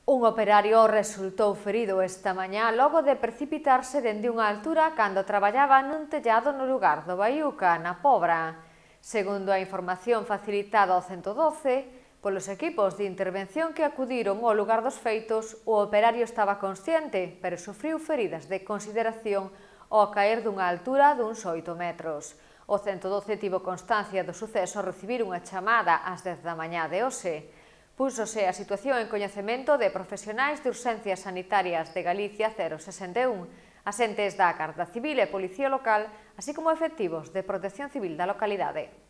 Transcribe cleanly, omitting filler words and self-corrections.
Un operario resultou ferido esta mañá logo de precipitarse dende unha altura cando traballaba nun tellado no lugar do Baiuca, na Pobra. Segundo a información facilitada ao 112, polos equipos de intervención que acudiron ao lugar dos feitos, o operario estaba consciente, pero sufriu feridas de consideración ao caer dunha altura duns 8 metros. O 112 tivo constancia do suceso ao recibir unha chamada ás 10 da mañá de hoxe. Púsose a situación en coñecemento de profesionais de urxencias sanitarias de Galicia 061, asentes da Garda Civil e Policía Local, así como efectivos de Protección Civil da localidade.